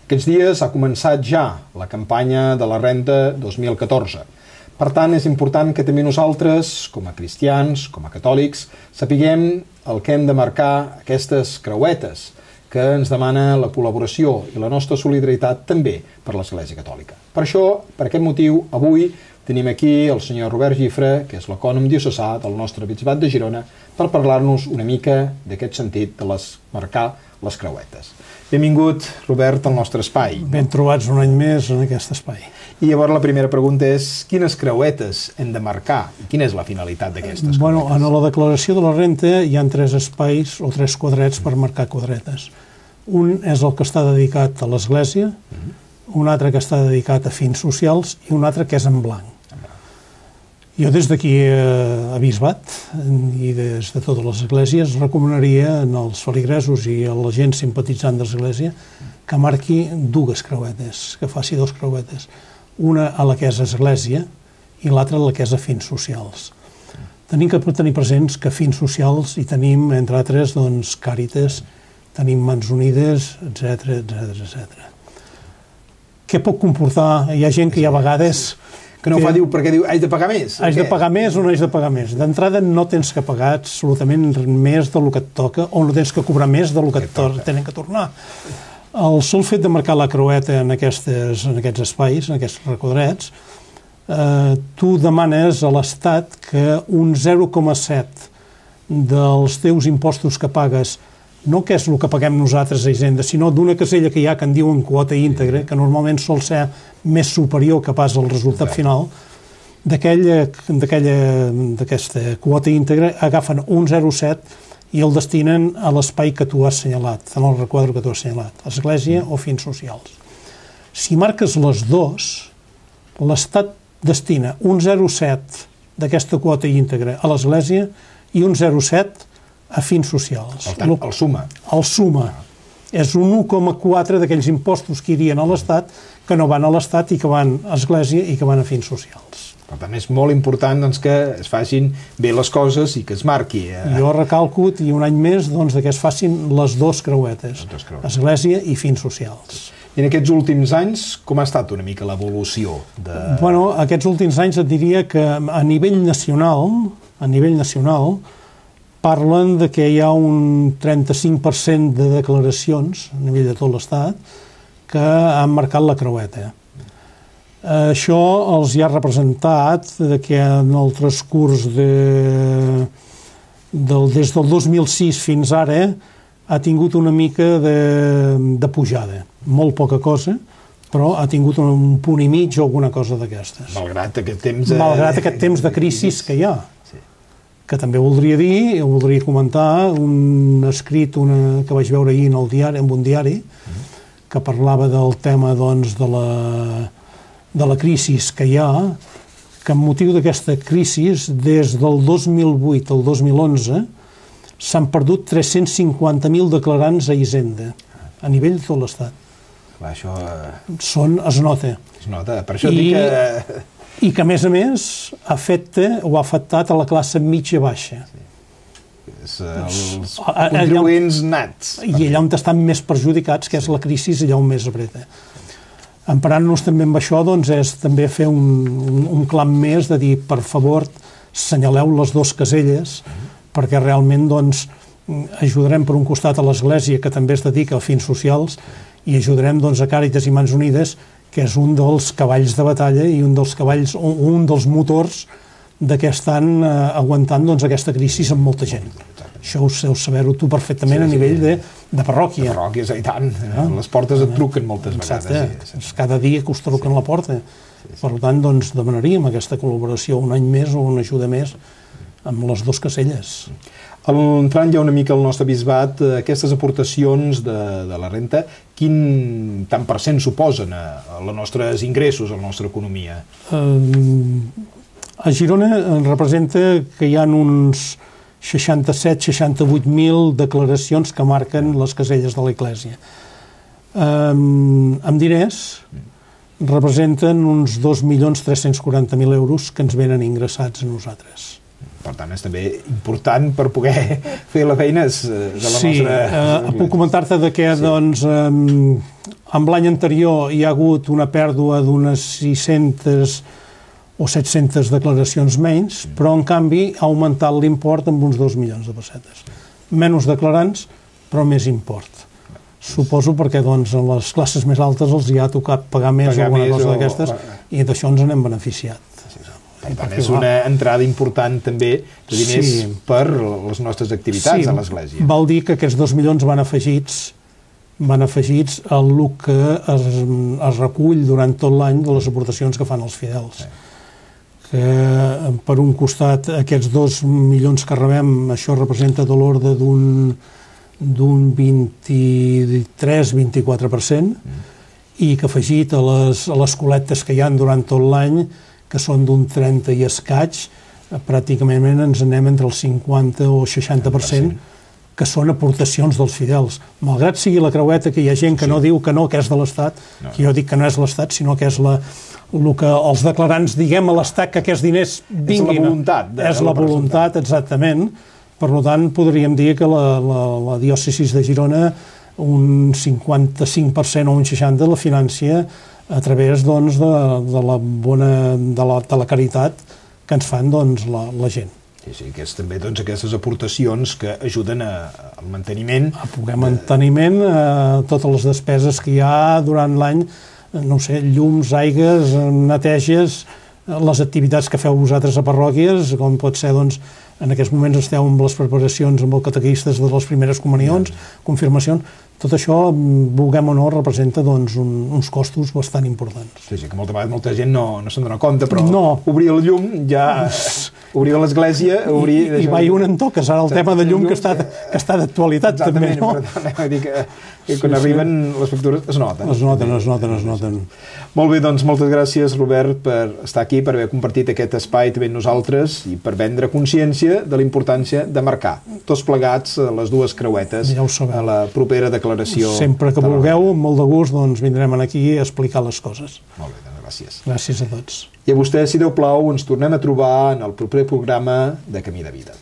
Aquests dies ha començat ja la campanya de la renda 2014. Per tant, és important que també nosaltres, com a cristians, com a catòlics, sapiguem el que hem de marcar aquestes creuetes, que ens demana la col·laboració i la nostra solidaritat també per l'Església Catòlica. Per això, per aquest motiu, avui tenim aquí el senyor Robert Gifre, que és l'ecònom diocesà del nostre bisbat de Girona, per parlar-nos una mica d'aquest sentit de marcar les creuetes. Benvingut, Robert, al nostre espai. Ben trobats un any més en aquest espai. I llavors la primera pregunta és quines creuetes hem de marcar i quina és la finalitat d'aquestes creuetes? Bueno, en la declaració de la renta hi ha 3 espais o 3 quadrets per marcar quadretes. Un és el que està dedicat a l'Església, un altre que està dedicat a fins socials i un altre que és en blanc. Jo des d'aquí a Bisbat i des de totes les esglésies recomanaria als feligresos i a la gent simpatitzant de l'Església que marqui 2 creuetes, que faci 2 creuetes. Una a la que és església i l'altra a la que és a fins socials. Tenim que tenir presents que fins socials hi tenim, entre altres, doncs, Càritas, tenim Mans Unides, etc. Què pot comportar? Hi ha gent que hi ha vegades... Que no fa, diu, perquè diu, haig de pagar més? Haig de pagar més o no haig de pagar més? D'entrada no tens que pagar absolutament més del que et toca o no tens que cobrar més del que tenen que tornar. El sol fet de marcar la creueta en aquests espais, en aquests requadrets, tu demanes a l'Estat que un 0,7 dels teus impostos que pagues, no que és el que paguem nosaltres a Hisenda, sinó d'una casella que hi ha que en diuen quota íntegra, que normalment sol ser més superior que pas al resultat final, d'aquesta quota íntegra agafen un 0,7 i el destinen a l'espai que tu has assenyalat, en el requadre que tu has assenyalat, església o fins socials. Si marques les 2, l'Estat destina un 0,7 d'aquesta quota íntegra a l'església i un 0,7 a fins socials. Per tant, el suma. El suma. És un 1,4 d'aquells impostos que irien a l'Estat, que no van a l'Estat i que van a església i que van a fins socials. Per tant, és molt important doncs, que es facin bé les coses i que es marqui. Jo recalco, i un any més, doncs, que es facin les 2 creuetes, església i fins socials. I en aquests últims anys, com ha estat una mica l'evolució? Bueno, aquests últims anys et diria que a nivell nacional, parlen de que hi ha un 35% de declaracions a nivell de tot l'Estat que han marcat la creueta. Això els hi ha representat que en el transcurs des del 2006 fins ara ha tingut una mica de pujada. Molt poca cosa, però ha tingut un punt i mig o alguna cosa d'aquestes. Malgrat aquest temps de crisi que hi ha. Que també voldria dir, voldria comentar un escrit que vaig veure ahir en un diari, que parlava del tema doncs, de la crisi que hi ha, que amb motiu d'aquesta crisi, des del 2008 al 2011, s'han perdut 350.000 declarants a Hisenda, a nivell de tot l'Estat. Això... Es nota. Es nota, per això dic que... I que, a més, ha afectat a la classe mitja-baixa. Els contribuents nats. I allà on estan més perjudicats, que és la crisi, allà on més apreta. Emparant-nos també amb això, doncs, és també fer un clam més de dir, per favor, assenyaleu les 2 caselles, perquè realment, doncs, ajudarem per un costat a l'Església, que també es dedica a fins socials, i ajudarem, doncs, a Càritas i Mans Unides, que és un dels cavalls de batalla i un dels motors que estan aguantant doncs, aquesta crisi amb molta gent. Això ho deus saber-ho tu perfectament a nivell de parròquia. De parròquies, i tant. Les portes et truquen moltes vegades. Cada dia que us truquen a la porta. Per tant, doncs, demanaríem aquesta col·laboració un any més o una ajuda més amb les 2 caselles. Entrant ja una mica al nostre bisbat, aquestes aportacions de la renta, quin tant % suposen a els nostres ingressos, a la nostra economia? A Girona representa que hi ha uns 67-68.000 declaracions que marquen les caselles de l'Església. Amb diners representen uns 2.340.000 euros que ens venen ingressats a nosaltres. Per tant, és també important per poder fer les feines de la nostra... Puc comentar-te que doncs, amb l'any anterior hi ha hagut una pèrdua d'unes 600 o 700 declaracions menys, però en canvi ha augmentat l'import amb uns 2 milions de pessetes. Menys declarants, però més import. Suposo perquè doncs, a les classes més altes els hi ha tocat pagar més o alguna cosa d'aquestes i d'això ens n'hem beneficiat. Per tant, és una entrada important també de diners per les nostres activitats a l'Església. Vol dir que aquests 2 milions van afegits al que es recull durant tot l'any de les aportacions que fan els fidels. Que per un costat aquests 2 milions que rebem, això representa de l'ordre d'un 23-24%, i que afegit a les col·lectes que hi ha durant tot l'any, que són d'un 30 i escaig, pràcticament ens anem entre el 50 o 60%, que són aportacions dels fidels. Malgrat sigui la creueta, que hi ha gent que no diu que no, que és de l'Estat, que jo dic que no és l'Estat, sinó que és el que els declarants diguem a l'Estat que aquests diners vinguin. És la voluntat. És la voluntat, exactament. Per tant, podríem dir que la diòcesi de Girona un 55% o un 60% la financia a través doncs, de la caritat que ens fan doncs, la gent. Sí, que és també doncs, aquestes aportacions que ajuden al manteniment. A poder manteniment, totes les despeses que hi ha durant l'any, no sé, llums, aigues, neteges, les activitats que feu vosaltres a parròquies, com pot ser, doncs, en aquests moments esteu amb les preparacions amb els catequistes de les primeres comunions, confirmacions, tot això, vulguem o no, representa doncs, uns costos bastant importants. Sí, que molta gent no se'n dona compte, però obrir el llum ja... Obrir l'església... I va i un en toques, ara el tema de llum que està d'actualitat també, no? Exactament, per tant, dir que quan arriben les factures es noten. Es noten. Molt bé, doncs moltes gràcies, Robert, per estar aquí, per haver compartit aquest espai també amb nosaltres i per prendre consciència de la importància de marcar tots plegats les dues creuetes a la propera declaració. Sempre que vulgueu, amb molt de gust, doncs vindrem aquí a explicar les coses. Molt bé, doncs gràcies. Gràcies a tots. I a vostès, si Déu plau, ens tornem a trobar en el proper programa de Camí de Vida.